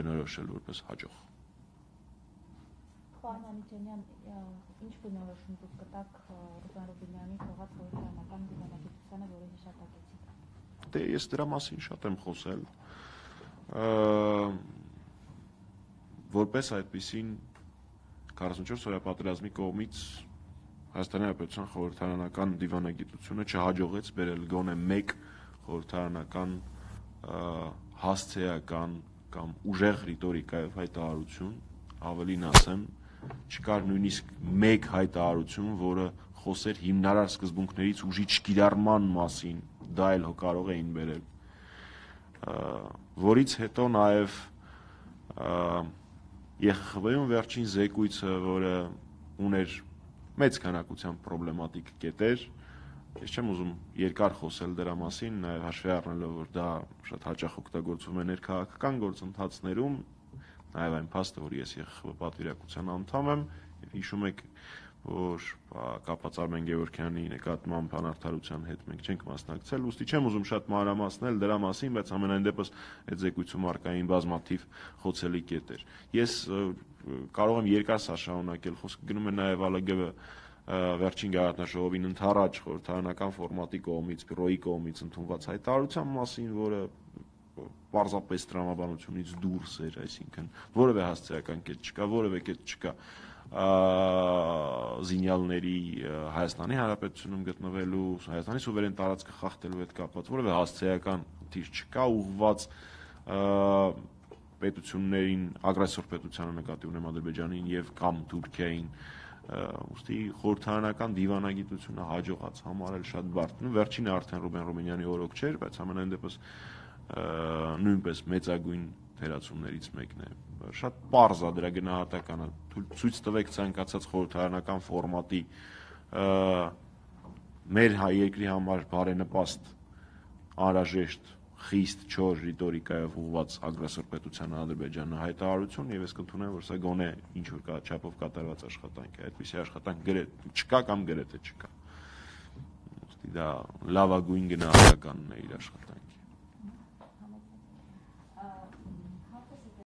բնորոշել որպես հաջող։ Պարոն Անիջանյան, ինչ բնորոշում դուք կտաք Ռուբեն Ռուբինյանի թողած խորհրդարանական դիվանագիտությանը, որը հիշատակեցիք։ Դե ես դրա մասին շատ եմ խոսել։ Որպես այդպիսին 44 օրյա պատերազմի կողմից Հայաստանի Հանրապետության խորհրդարանական դիվանագիտությունը չհաջողեց բերել գոնե մեկ խորհրդարանական հասցեական կամ ուժեղ ռիտորիկայով հայտարարություն, avելին ասեմ, չկար նույնիսկ մեկ հայտարարություն, որը խոսեր հիմնարար սկզբունքներից ուժի չկիրառման մասին, դա էլ կարող էին բերել, որից հետո նաև ԵԽԽՎ-ում վերջին զեկույցը, որը ուներ մեծ քանակությամբ պրոբլեմատիկ կետեր, ես չեմ ուզում երկար խոսել դրա մասին, նաև հաշվի առնելով, որ դա շատ հաճախ օգտագործվում է ներքաղաքական գործընթացներում, նաև այն փաստը, որ ես ԵԽԽՎ պատվիրակության անդամ եմ, եւ հիշում եք, որ կապված Արմեն Գևորգյանի նկատմամբ անարդարության հետ մենք չենք մասնակցել, ուստի չեմ ուզում շատ մանրամասնել դրա մասին, բայց ամենայն դեպս այդ զեկույցում արկային բազմաթիվ խոցելի կետեր։ Ես կարող եմ երկար սա շարունակել, խոսքը գնում է նաև ԱԼԳ վերջին գաղտնաշահովին ընդառաջ խորհրդարանական ֆորմատի կողմից, բյուրոյի կողմից ընդունված հայտարարության մասին, որը պարզապես տրամաբանությունից դուրս էր, այսինքն որևէ հասցեական կետ չկա, որևէ կետ չկա զինյալների Հայաստանի Հանրապետությունում գտնվելու, Հայաստանի սուվերեն տարածքը խախտելու հետ կապված, որևէ հասցեական թիր չկա ուղղված պետություններին, ագրեսոր պետությանը նկատի ունեմ Ադրբեջանին եւ կամ Թուրքիային, ուստի խորհրդարանական դիվանագիտությունը հաջողած համարել շատ բարդ։ Վերջինը արդեն Ռուբեն Ռուբինյանի օրոք չէր, բայց ամենայն դեպս նույնպես մեծագույն թերացումներից մեկն է։ Շատ պարզ է դրա գնահատականը, ցույց տվեք ցանկացած խորհրդարանական ֆորմատի մեր երկրի համար բարենպաստ, անհրաժեշտ, խիստ չոր ռիտորիկայով ուղղված ագրեսոր պետության Ադրբեջանը հայտարարություն, եւ ես կընդունեմ, որ սա գոնե ինչ որ չափով կատարված աշխատանք է, այդպիսի աշխատանք գրեթե չկա կամ գրեթե չկա։ Դա լավագույն գնահատականն է իր աշխատանքի։